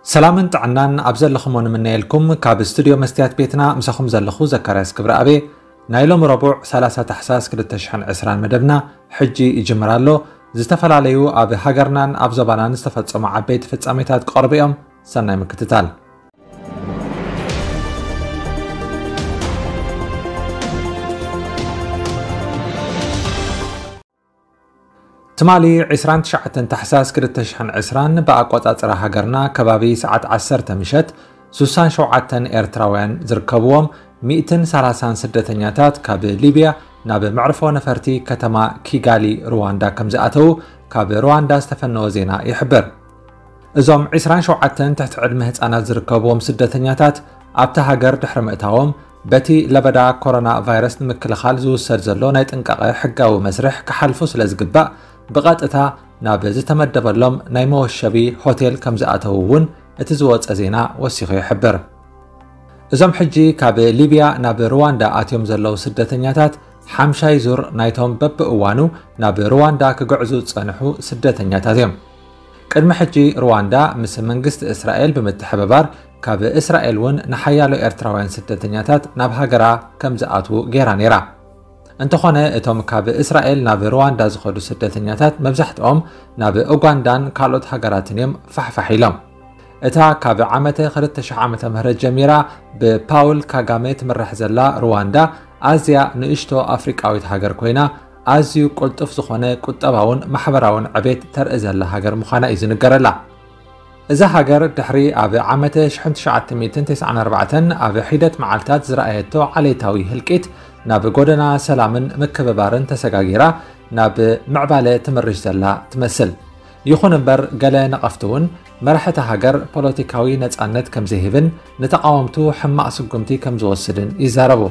ሰላምን ጥዕናን ኣብ ዘለኹሞ ንምነየልኩም። ካብ ስቱድዮ መስትያት ቤትና ምሳኹም ዘለኹ ዘካርያስ ክብረኣብ። ናይ ሎሚ ረቡዕ ሰላሳ ታሕሳስ ክልተ ሽሕን ዕስራን መደብና ሕጂ ይጅምር ኣሎ። ዝተፈላለዩ ኣብ ሃገርናን ኣብ ዞባናን ዝተፈጸሙ ዓበይቲ ፍጻሜታት ክቐርቡ እዮም። ሰናይ ምክትታል። ትማሊ ዕስራን ትሽዓተን ታሕሳስ ክልተ ሽሕን ዕስራን ብኣቆጻጽራ ሃገርና ከባቢ ሰዓት ዓሰርተ ምሸት፣ ሱሳን ሸውዓተን ኤርትራውያን ዝርከብዎም ሚእትን ሰላሳን ስደተኛታት ካብ ሊብያ ናብ መዕርፎ ነፈርቲ ከተማ ኪጋሊ ሩዋንዳ ከም ዝኣተዉ ካብ ሩዋንዳ ዝተፈነወ ዜና ይሕብር። እዞም ዕስራን ሸውዓተን ትሕቲ ዕድመ ህጻናት ዝርከብዎም ስደተኛታት ኣብታ ሃገር ድሕሪ ምእታዎም፣ በቲ ለበዳ ኮሮና ቫይረስ ንምክልኻል ዝውሰድ ዘሎ ናይ ጥንቃቐ ሕጋዊ መስርሕ ክሓልፉ ስለ ዝግባእ፣ ብቐጥታ ናብ ዝተመደበሎም ናይ መወሸቢ ሆቴል ከም ዝኣተዉ እውን እቲ ዝወጸ ዜና ወሲኹ ይሕብር። እዞም ሕጂ ካብ ሊብያ ናብ ሩዋንዳ ኣትዮም ዘለዉ ስደተኛታት ሓምሻይ ዙር ናይቶም በብእዋኑ ናብ ሩዋንዳ ክግዕዙ ዝጸንሑ ስደተኛታት እዮም። ቅድሚ ሕጂ ሩዋንዳ ምስ መንግስቲ እስራኤል ብምትሕብባር፣ ካብ እስራኤል እውን ንሓያሎ ኤርትራውያን ስደተኛታት ናብ ሃገራ ከም ዝኣትዉ ገይራ ነይራ። እንተኾነ፣ እቶም ካብ እስራኤል ናብ ሩዋንዳ ዝኸዱ ስደተኛታት መብዛሕትኦም ናብ ኡጋንዳን ካልኦት ሃገራትን እዮም ፋሕፋሕ ኢሎም። እታ ካብ ዓመተ ክልተ ሽሕ ዓመተ ምህረት ጀሚራ ብፓውል ካጋሜ ትምራሕ ዘላ ሩዋንዳ፣ ኣዝያ ንእሽቶ ኣፍሪቃዊት ሃገር ኮይና፣ ኣዝዩ ቅልጡፍ ዝኾነ ቁጠባውን ማሕበራውን ዕቤት ተርኢ ዘላ ሃገር ምዃና እዩ ዝንገረላ። እዛ ሃገር ድሕሪ ኣብ ዓመተ ሽሕን ትሽዓተ ሚእትን ተስዓን ኣርባዕተን ኣብ ሒደት መዓልታት ዝረኣየቶ ዓሌታዊ ህልቂት፣ ናብ ጎደና ሰላምን ምክብባርን ተሰጋጊራ ናብ ምዕባለ ትምርሽ ዘላ ትመስል። ይኹን እምበር፣ ገለ ነቐፍቲ እውን መራሕቲ ሃገር ፖለቲካዊ ነጻነት ከም ዘይህብን ንተቓወምቱ ሕማቕ ስጉምቲ ከም ዝወስድን ይዛረቡ።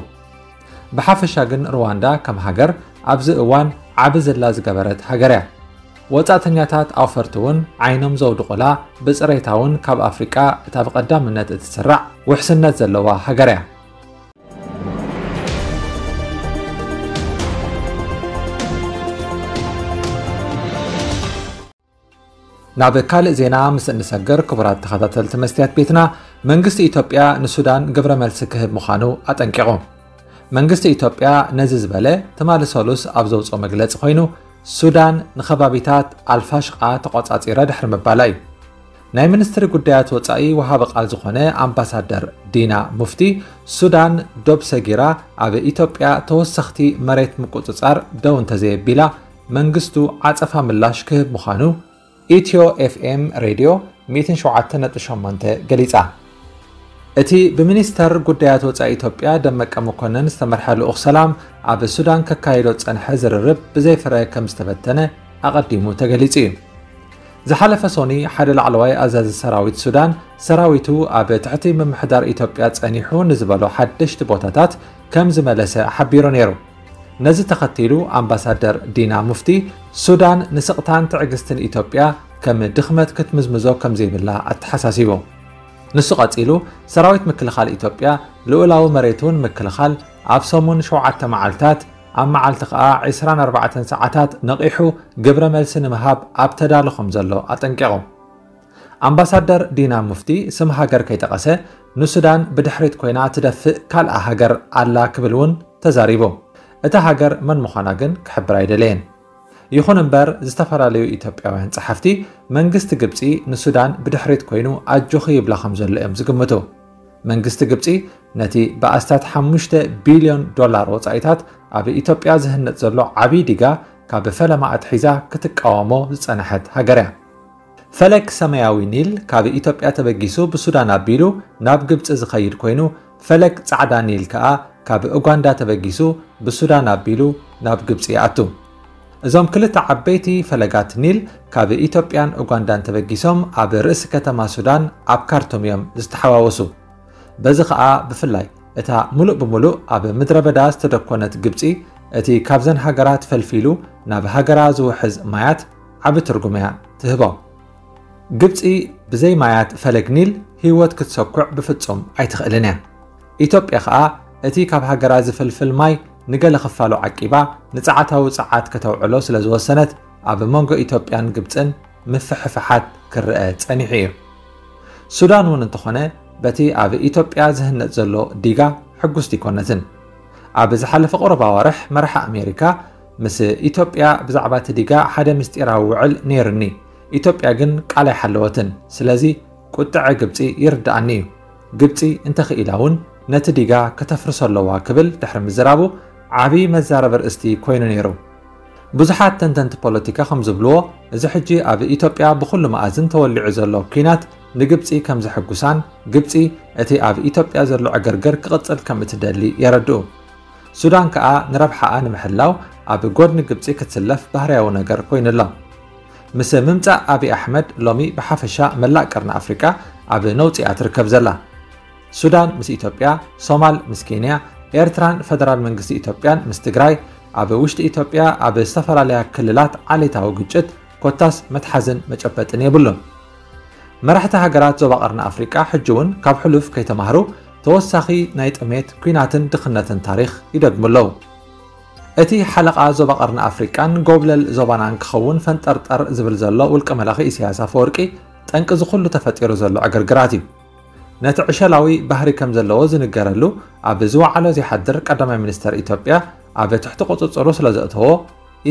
ብሓፈሻ ግን፣ ሩዋንዳ ከም ሃገር ኣብዚ እዋን ዓቢ ዝላ ዝገበረት ሃገር እያ። ወጻእተኛታት ኣውፈርቲ እውን ዓይኖም ዘውድቑላ፣ ብጽሬታ እውን ካብ ኣፍሪቃ እታ ብቐዳምነት እትስራዕ ውሕስነት ዘለዋ ሃገር እያ። ናብ ካልእ ዜና ምስ እንሰግር፣ ክቡራት ተኸታተልቲ መስትያት ቤትና፣ መንግስቲ ኢትዮጵያ ንሱዳን ግብረ መልሲ ክህብ ምዃኑ ኣጠንቂቑ። መንግስቲ ኢትዮጵያ ነዚ ዝበለ፣ ትማሊ ሰሉስ ኣብ ዘውፅኦ መግለፂ ኮይኑ፣ ሱዳን ንኸባቢታት ኣልፋሽቃ ተቖጻጺረ ድሕሪ ምባላ እዩ። ናይ ሚኒስትሪ ጉዳያት ወጻኢ ወሃቢ ቃል ዝኾነ ኣምባሳደር ዲና ሙፍቲ፣ ሱዳን ዶብ ሰጊራ ኣብ ኢትዮጵያ ተወሰኽቲ መሬት ምቁጽጻር ደው እንተዘየቢላ፣ መንግስቱ ዓጸፋ ምላሽ ክህብ ምዃኑ ኢትዮ ኤፍኤም ሬድዮ ሚእትን ሸውዓተን ነጥቢ ሸሞንተ ገሊጻ። እቲ ብሚኒስተር ጉዳያት ወጻኢ ኢትዮጵያ ደመቀ መኮነን ዝተመርሐ ልኡኽ ሰላም፣ ኣብ ሱዳን ከካይዶ ዝጸንሐ ዝርርብ ብዘይ ፍረ ከም ዝተበተነ ኣቐዲሙ ተገሊጹ እዩ። ዝሓለፈ ሶኒ፣ ሓደ ላዕለዋይ ኣዛዚ ሰራዊት ሱዳን፣ ሰራዊቱ ኣብ ትሕቲ ምምሕዳር ኢትዮጵያ ጸኒሑ ንዝበሎ ሓደሽቲ ቦታታት ከም ዝመለሰ ሓቢሩ ነይሩ። ነዚ ተኸቲሉ፣ ኣምባሳደር ዲና ሙፍቲ፣ ሱዳን ንስቕታን ትዕግስትን ኢትዮጵያ ከም ድኽመት ክትምዝምዞ ከም ዘይብላ ኣተሓሳሲቡ። ንሱ ቀጺሉ፣ ሰራዊት ምክልኻል ኢትዮጵያ ልኡላዊ መሬቱ ንምክልኻል ኣብ ሰሙን ሸውዓተ መዓልታት፣ ኣብ መዓልቲ ከኣ ዕስራን ኣርባዕተን ሰዓታት ነቒሑ ግብረ መልሲ ንምሃብ ኣብ ተዳሎ ከም ዘሎ ኣጠንቂቑ። ኣምባሳደር ዲና ሙፍቲ፣ ስም ሃገር ከይጠቐሰ፣ ንሱዳን ብድሕሪት ኮይና ትደፍእ ካልኣ ሃገር ኣላ ክብል እውን ተዛሪቡ። እታ ሃገር መን ምዃና ግን ክሕብር ኣይደለየን። ይኹን እምበር፣ ዝተፈላለዩ ኢትዮጵያውያን ጸሓፍቲ፣ መንግስቲ ግብጺ ንሱዳን ብድሕሪት ኮይኑ ኣጆኺ ይብላ ከም ዘሎ እዮም ዝግምቱ። መንግስቲ ግብጺ ነቲ ብኣስታት ሓሙሽተ ቢልዮን ዶላር ወጻኢታት ኣብ ኢትዮጵያ ዝህነጽ ዘሎ ዓቢ ዲጋ ካብ ፈለማ ኣትሒዛ ክትቃወሞ ዝጸንሐት ሃገር እያ። ፈለግ ሰማያዊ ኒል ካብ ኢትዮጵያ ተበጊሱ ብሱዳን ኣቢሉ ናብ ግብጺ ዝኸይድ ኮይኑ፣ ፈለግ ጻዕዳ ኒል ከኣ ካብ ኡጋንዳ ተበጊሱ ብሱዳን ኣቢሉ ናብ ግብጺ ይኣቱ። እዞም ክልተ ዓበይቲ ፈለጋት ኒል ካብ ኢትዮጵያን ኡጋንዳን ተበጊሶም ኣብ ርእሲ ከተማ ሱዳን ኣብ ካርቱም እዮም ዝተሓዋወሱ። በዚ ኸኣ ብፍላይ እታ ምሉእ ብምሉእ ኣብ ምድረ በዳ ዝተደኮነት ግብጺ፣ እቲ ካብዘን ሃገራት ፈልፊሉ ናብ ሃገራ ዝውሕዝ ማያት ዓቢ ትርጉም እያ ትህቦ። ግብጺ ብዘይ ማያት ፈለግ ኒል ህይወት ክትሰኩዕ ብፍጹም ኣይትኽእልን እያ። ኢትዮጵያ ኸኣ እቲ ካብ ሃገራ ዝፍልፍል ማይ ንገለ ክፋሉ ዓቂባ ንጸዓታዊ ጸዓት ከተውዕሎ ስለ ዝወሰነት፣ ኣብ መንጎ ኢትዮጵያን ግብጽን ምፍሕፋሓት ክረአ ጸኒሑ እዩ። ሱዳን እውን እንተኾነ በቲ ኣብ ኢትዮጵያ ዝህነጽ ዘሎ ዲጋ ሕጉስቲ ኣይኮነትን። ኣብ ዝሓለፈ ቁሩብ ኣዋርሕ መራሒ ኣሜሪካ ምስ ኢትዮጵያ ብዛዕባ እቲ ዲጋ ሓደ ምስጢራዊ ውዕል ነይሩኒ፣ ኢትዮጵያ ግን ቃል ኣይሓለወትን። ስለዚ ቁጥዐ ግብጺ ይርድኣኒ እዩ። ግብጺ እንተኽኢላ እውን ነቲ ዲጋ ከተፍርሶ ኣለዋ ክብል ድሕሪ ምዝራቡ ዓቢ መዛረቢ ኣርእስቲ ኮይኑ ነይሩ። ብዙሓት ተንተንቲ ፖለቲካ ከም ዝብልዎ፣ እዚ ሕጂ ኣብ ኢትዮጵያ ብኹሉ መኣዝን ተወሊዑ ዘሎ ኲናት ንግብጺ ከም ዘሐጉሳን ግብጺ እቲ ኣብ ኢትዮጵያ ዘሎ ዕግርግር ክቕጽል ከም እትደሊ የረድኡ። ሱዳን ከኣ ንረብሓኣ ንምሕላው ኣብ ጎድኒ ግብጺ ክትስለፍ ባህርያዊ ነገር ኮይኑ ኣሎ። ምስ ምምጻእ ኣቢ ኣሕመድ ሎሚ ብሓፈሻ መላእ ቀርኒ ኣፍሪቃ ኣብ ነውጺ እያ ትርከብ ዘላ። ሱዳን ምስ ኢትዮጵያ፣ ሶማል ምስ ኬንያ፣ ኤርትራን ፈደራል መንግስቲ ኢትዮጵያን ምስ ትግራይ፣ ኣብ ውሽጢ ኢትዮጵያ ኣብ ዝተፈላለያ ክልላት ዓሌታዊ ግጭት ኮታስ መትሓዝን መጨበጥን የብሉን። መራሕቲ ሃገራት ዞባ ቀርኒ ኣፍሪቃ ሕጂ እውን ካብ ሕሉፍ ከይተማህሩ ተወሳኺ ናይ ጥሜት፣ ኲናትን ድኽነትን ታሪኽ ይደግሙ ኣለዉ። እቲ ሓለቓ ዞባ ቀርኒ ኣፍሪቃን ጎብለል ዞባናን ክኸውን ፈንጠርጠር ዝብል ዘሎ ውልቀ መላኺ ኢሳያስ ኣፈወርቂ ጠንቂ እዚ ኩሉ ተፈጢሩ ዘሎ ዕግርግራት እዩ። ነቲ ዕሸላዊ ባህሪ ከም ዘለዎ ዝንገረሉ ኣብ ዝወዓሎ ዘይሓድር ቀዳማይ ሚኒስተር ኢትዮጵያ ኣብ ትሕቲ ቁጽጽሩ ስለ ዘእተዎ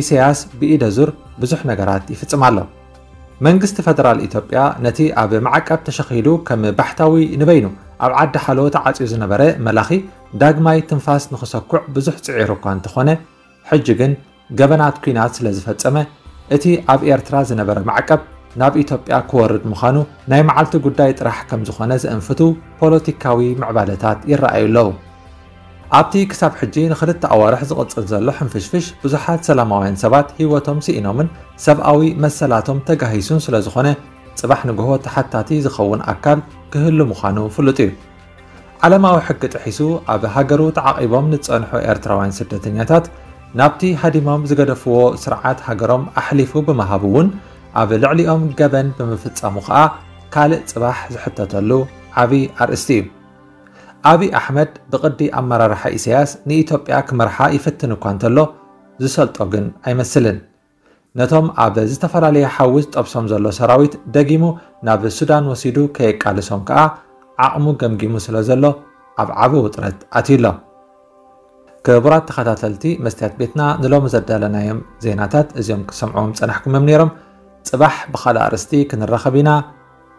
ኢሳያስ ብኢደ ዙር ብዙሕ ነገራት ይፍጽም ኣሎ። መንግስቲ ፈደራል ኢትዮጵያ ነቲ ኣብ ማዕቀብ ተሸኺሉ ከም ባሕታዊ ንበይኑ ኣብ ዓዲ ሓሎ ተዓጽዩ ዝነበረ መላኺ ዳግማይ ትንፋስ ንኽሰኩዕ ብዙሕ ጽዒሩ እኳ እንተኾነ፣ ሕጂ ግን ገበናት ኲናት ስለ ዝፈጸመ፣ እቲ ኣብ ኤርትራ ዝነበረ ማዕቀብ ናብ ኢትዮጵያ ክወርድ ምዃኑ ናይ መዓልቲ ጉዳይ ጥራሕ ከም ዝኾነ ዘእንፍቱ ፖለቲካዊ ምዕባለታት ይረኣዩ ኣለዉ። ኣብቲ ክሳብ ሕጂ ንኽልተ ኣዋርሕ ዝቕጽል ዘሎ ሕንፍሽፍሽ፣ ብዙሓት ሰላማውያን ሰባት ህይወቶም ስኢኖምን ሰብኣዊ መሰላቶም ተጋሂሱን ስለ ዝኾነ፣ ጽባሕ ንግሆ ተሓታቲ ዝኸውን ኣካል ክህሉ ምዃኑ ፍሉጥ እዩ። ዓለማዊ ሕጊ ጥሒሱ ኣብ ሃገሩ ተዓቒቦም ንዝጸንሑ ኤርትራውያን ስደተኛታት ናብቲ ሃዲሞም ዝገደፍዎ ስርዓት ሃገሮም ኣሕሊፉ ብምሃቡ እውን ኣብ ልዕሊኦም ገበን ብምፍጻሙ ከኣ ካልእ ጽባሕ ዝሕተተሉ ዓቢ ኣርእስቲ እዩ። ኣቢ ኣሕመድ ብቕዲ ኣመራርሓ ኢሳያስ ንኢትዮጵያ ክመርሓ ይፍትን እኳ እንተሎ ዝሰልጦ ግን ኣይመስልን። ነቶም ኣብ ዝተፈላለየ ሓዊ ዝጠብሶም ዘሎ ሰራዊት ደጊሙ ናብ ሱዳን ወሲዱ ከየቃልሶም ከኣ ዓቕሙ ገምጊሙ ስለ ዘሎ ኣብ ዓቢ ውጥረት ኣትዩ ኣሎ። ክቡራት ተኸታተልቲ መስትያት ቤትና ንሎሚ ዘዳለናዮም ዜናታት እዚኦም ክሰምዕዎም ጸናሕኩምም ነይሮም። ጽባሕ ብኻልእ ኣርእስቲ ክንራኸብ ኢና።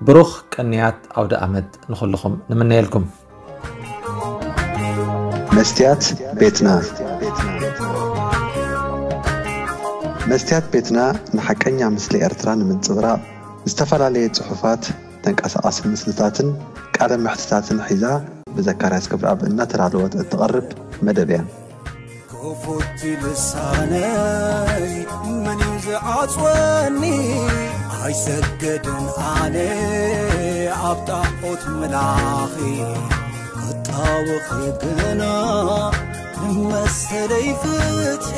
ብሩኽ ቅንያት ኣውደ ኣመት ንኹልኹም ንምነየልኩም። መስትያት ቤትና። መስትያት ቤትና ንሓቀኛ ምስሊ ኤርትራ ንምንጽብራቕ ዝተፈላለየ ጽሑፋት፣ ተንቀሳቓሲ ምስልታትን ቃለ መሕትታትን ሒዛ ብዘካርያስ ክብረኣብ እናተዳለወት እትቐርብ መደብ እያ። ክፉት ልሳነይ መን እዩ ዝዓጽወኒ? ኣይሰገድን ኣነ ኣብ ጣዖት ምላኺ ክጣወኺ ግና ንመሰለይ ፍትሒ